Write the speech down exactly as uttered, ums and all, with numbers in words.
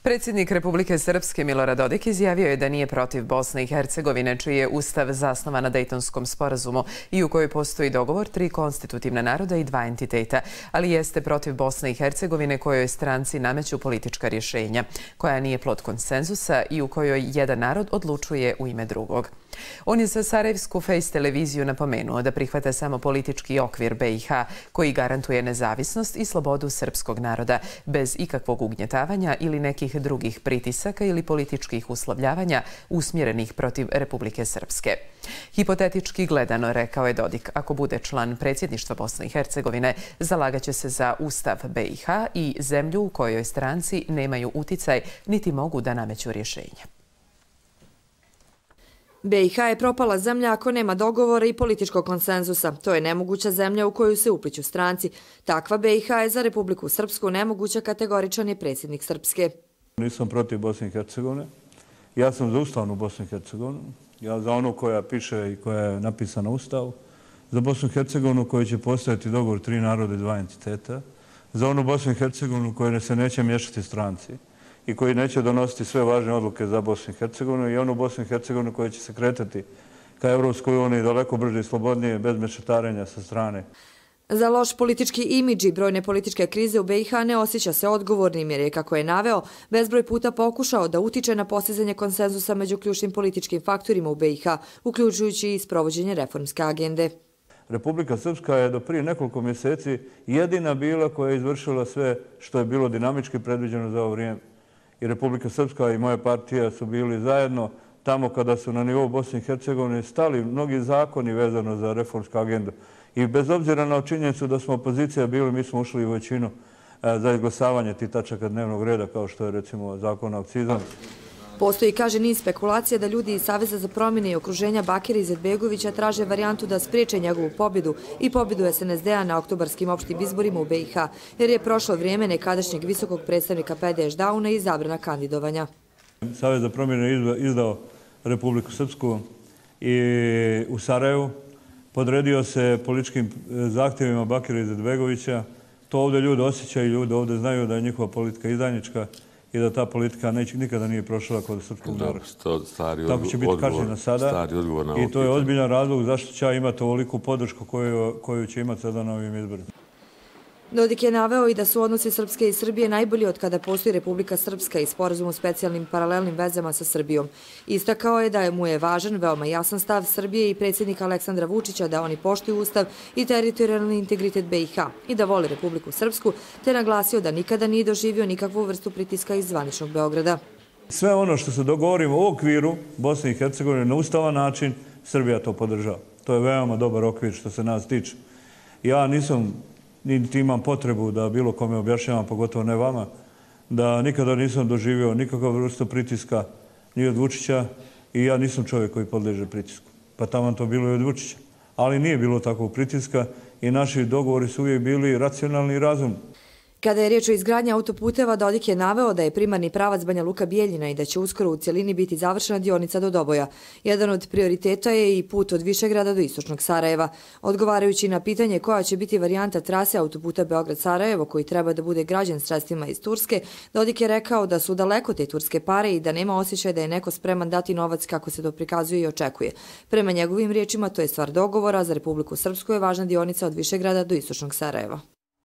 Predsjednik Republike Srpske Milorad Dodik izjavio je da nije protiv Bosne i Hercegovine, čiji je ustav zasnovan na Dejtonskom sporazumu i u kojoj postoji dogovor tri konstitutivna naroda i dva entiteta, ali jeste protiv Bosne i Hercegovine kojoj stranci nameću politička rješenja, koja nije plod konsenzusa i u kojoj jedan narod odlučuje u ime drugog. On je za Sarajevsku Face televiziju napomenuo da prihvata samo politički okvir B i H koji garantuje nezavisnost i slobodu srpskog naroda bez ikakvog ugnjetavanja ili nekih drugih pritisaka ili političkih uslovljavanja usmjerenih protiv Republike Srpske. Hipotetički gledano, rekao je Dodik, ako bude član predsjedništva Bosne i Hercegovine, zalagaće se za ustav B i H i zemlju u kojoj stranci nemaju uticaj niti mogu da nameću rješenja. B i H je propala zemlja ako nema dogovora i političkog konsenzusa. To je nemoguća zemlja u koju se upliću stranci. Takva B i H je za Republiku Srpsku nemoguća, kategoričan je predsjednik Srpske. Nisam protiv Bosne i Hercegovine. Ja sam za ustavnu Bosnu i Hercegovinu. Ja za onu koja piše i koja je napisana u ustavu. Za Bosnu i Hercegovinu koji će postojati dogovor tri naroda i dva entiteta. Za onu Bosnu i Hercegovinu koja se neće miješati stranci i koji neće donositi sve važne odluke za Bosnu i Hercegovinu i onu Bosnu i Hercegovinu koja će se kretati ka Evropskoj uniji daleko brže i slobodnije, bez mešetarenja sa strane. Za loš politički imidž i brojne političke krize u B i H ne osjeća se odgovornim jer je, kako je naveo, bezbroj puta pokušao da utiče na postizanje konsenzusa među ključnim političkim faktorima u B i H, uključujući i sprovođenje reformske agende. Republika Srpska je do prije nekoliko mjeseci jedina bila koja je izvršila sve što je bilo dinamički predviđeno za ovo vrijeme. I Republika Srpska i moja partija su bili zajedno tamo kada su na nivou Bosne i Hercegovine stali mnogi zakoni vezano za reformsku agendu. I bez obzira na činjenicu da smo opozicija bili, mi smo ušli u većinu za izglasavanje tih tačaka dnevnog reda, kao što je recimo zakon o akcizama. Postoji, kaže, niz spekulacija da ljudi iz Saveza za promjene i okruženja Bakira Izetbegovića traže varijantu da spriječe njegovu pobjedu i pobjedu S N S D-a na oktobarskim opštim izborima u B i H, jer je prošlo vrijeme nekadašnjeg visokog predstavnika P D Š Dauna i zabrana kandidovanja. Savez za promjene je izdao Republiku Srpsku i u Sarajevu. Podredio se političkim zahtjevima Bakira Izetbegovića. To ovdje ljudi osjećaju, ljudi ovdje znaju da je njihova politika izdajnička i da ta politika nikada nije prošla kod srpskog naroda. Tako će biti kažnjena sada i to je ozbiljan razlog zašto će imati ovoliku podršku koju će imati sada na ovim izborima. Dodik je naveo i da su odnosi Srpske i Srbije najbolji od kada postoji Republika Srpska i sporazum o specijalnim paralelnim vezama sa Srbijom. Istakao je da mu je važan veoma jasan stav Srbije i predsjednika Aleksandra Vučića da oni poštuju ustav i teritorijalni integritet B i H i da vole Republiku Srpsku, te naglasio da nikada nije doživio nikakvu vrstu pritiska iz zvaničnog Beograda. Sve ono što se dogovorimo u okviru Bosne i Hercegovine na ustavan način, Srbija to podržava. To je veoma dobar okvir što se nas tiče. Ja nisam niti imam potrebu da bilo kome objašnjavam, pogotovo ne vama, da nikada nisam doživio nikakav vrstu pritiska ni od Vučića i ja nisam čovjek koji podliježe pritisku. Pa tamo to bilo i od Vučića. Ali nije bilo takvog pritiska i naši dogovori su uvijek bili racionalni i razumni. Kada je riječ o izgradnji autoputeva, Dodik je naveo da je primarni pravac Banja Luka-Bijeljina i da će uskoro u cjelini biti završena dionica do Doboja. Jedan od prioriteta je i put od Višegrada do istočnog Sarajeva. Odgovarajući na pitanje koja će biti varijanta trase autoputa Beograd-Sarajevo, koji treba da bude građen sredstvima iz Turske, Dodik je rekao da su daleko te turske pare i da nema osjećaj da je neko spreman dati novac kako se to prikazuje i očekuje. Prema njegovim riječima, to je stvar dogovora, za Republiku Srpsku je važna dionica od Višegrada do istočnog Sarajeva.